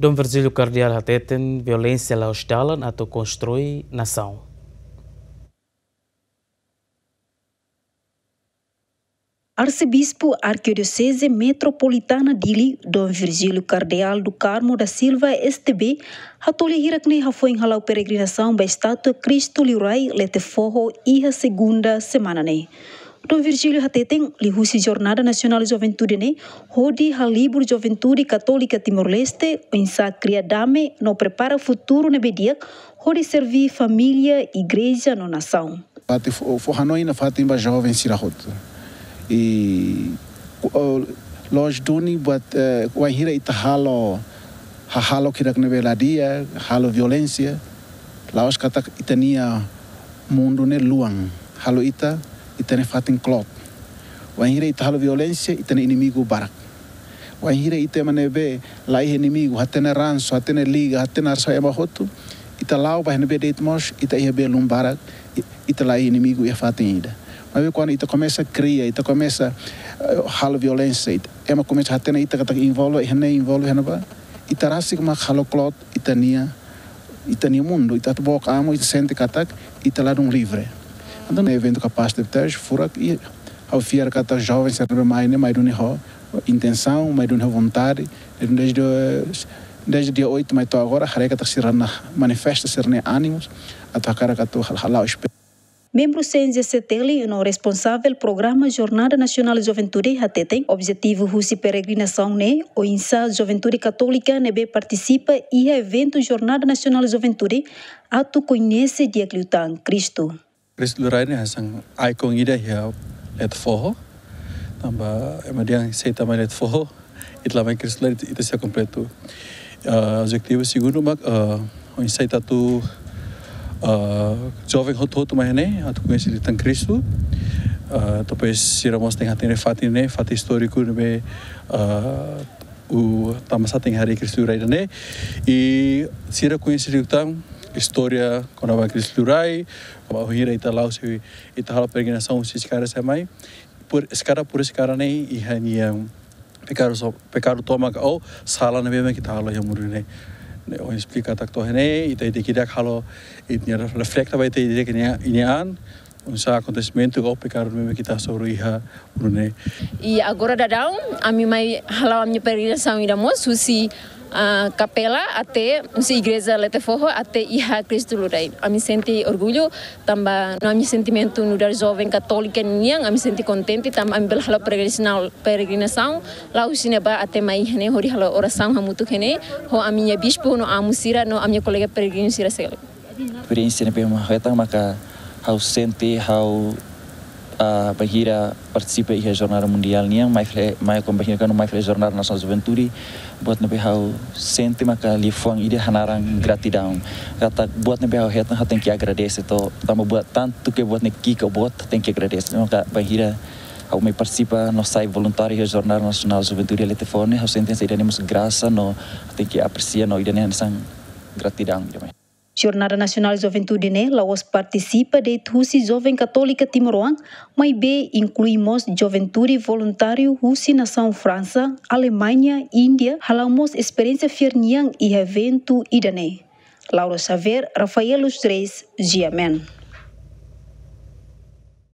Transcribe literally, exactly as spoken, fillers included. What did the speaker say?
Dom Virgílio Kardeál hateten violénsia la'ós dalan atu konstrui nasaun. Arsebispu Arkidioseze Metropolitana Dili, Dom Virgílio Kardeál do Carmo da Silva, S T B, hato'o lia hirak-ne'e hafoin hala'o peregrinasaun ba estátua Kristu Liurai Lete Foho iha segunda semana ne'e. Dom Virgílio hateten, liuhusi Jornada Nasionál Juventude ne'e, hodi halibur juventude katólika Timor-Leste, oinsá kria dame no prepara futuru ne'ebé di'ak, hodi serví família, igreja no nasaun. Fatin fó, fó hanoin nafatin ba joven sira hotu. I, o, loos duni buat, eh, wainhira ita halo, hahalok hirak ne'ebé la di'ak, halo violénsia, la'ós katak ita-nia mundu ne'e luan, halo ita, ita-nia fatin kloot. Wainhira ita halo violénsia, ita-nia inimigu barak. Wainhira ita ema ne'ebé la iha inimigu, hatene ransu, hatene liga, hatene arsau ema hotu, ita la'o ba iha ne'ebé de'it mós, ita iha belun barak, i-, ita la iha inimigu iha fatin ida. Maibé kuandu ita komesa kria, ita komesa, eh, halo violénsia, ita, ema komesa hatene ita katak envolve iha ne'e, envolve iha ne'ebá, ita rasik mak halo kloot ita-nia, ita-nia mundu, ita atu book amu, ita sente katak ita ladún livre. Entaun, eventu kapás de teste, furak, i ha'u fiar katak joven sira ne'ebé mai ne'e, mai duni ho intensaun, mai duni ho vontade, i dezde, dezde dia oitu mai to'o agora, haree katak sira-nia manifesta sira-nia ánimus, atu hakarak atu hal-, hala'o espe- Membru C N J C T L no responsavel Programa Jornada Nasionál Juventude hateten, objetivu husi peregrinasaun ne'e, oinsá juventude katólika ne'ebé partisipa iha eventu Jornada Nasionál Juventude atu koñese di'ak liután Kristu. Kristu Liurai ne'e hanesan ikon ida iha Lete Foho. Tanba ema dehan se ita mai Lete Foho, ita la mai Kristu Liurai, ita sei kompletu. Ah, objetivu segundu mak, ah, oinsá ita atu, ah, joven hotu-hotu mai ne'e, atu koñese liután Kristu. Ah, depois sira mós tenke hatene fatin ne'e, fatin istóriku ne'ebé, ah, o tanbasá tenke harii Kristu Liurai ne'e. I sira koñese liután istória kona-ba Kristu Liurai, wainhira ita la'o sei, ita halo peregrinasaun husi eskada sei mai. Por eskada, por eskada ne'e, iha nia pekadu so, pekadu tomak ou sala ne'ebé mak ita halo iha mundu ne'e. Ne'e, o esplika katak to'o ne'e, ita, ita ki'ik halo, ita refleta ba ita, ita ke nia, nia an, oinsá akontesimentu ou pekadu ne'ebé mak ita hasoru iha mundu ne'e. I agora daudaun, ami mai hala'o ami-nia peregrinasaun ida mós, husi, ah, kapela até, husi igreja Lete Foho até iha Kristu Liurai. Ami sente orgullu, tanba no ami sentimentu nu'udar joven katólika nian, ami sente kontente, tanba ami bele hala'o peregrinasaun, peregrinasaun, la'o husi ne'ebá até mai iha ne'e hodi halo orasaun hamutuk iha ne'e, ho ami-nia bispu no amu sira no ami-nia kolega peregrinu sira seluk. Esperiénsia ne'ebé mak ha'u hetan maka ha'u sente ha'u, ah, bainhira partisipa iha Jornada Mundiál nian, mai fali, mai kon bainhira kuandu mai fali Jornada Nasionál Juventude, buat ne'ebé ha'u sente maka liafuan ida hanaran gratidaun. Katak buat ne'ebé ha'u hetan ha'u tenke agradese to, tanba buat tantu ke buat ne'e ki'ik ka boot tenke agradese. Maka bainhira ha'u mai partisipa no sai voluntáriu iha Jornada Nasionál Juventude Lete Foho ne'e, ha'u sente saida ne'e mós grasa no tenke apresia no ida ne'e hanesan gratidaun ida mai. Jornada Nasionál Juventude ne'e la'ós partisipa de'it husi joven katólika timoroan, maibé inklui mós juventude voluntáriu husi nasaun Fransa, Alemaña, Índia, hala'o mós esperiénsia fiar nian iha eventu ida-ne'e. Laura Xavier, Rafael Luz Reis, G M N.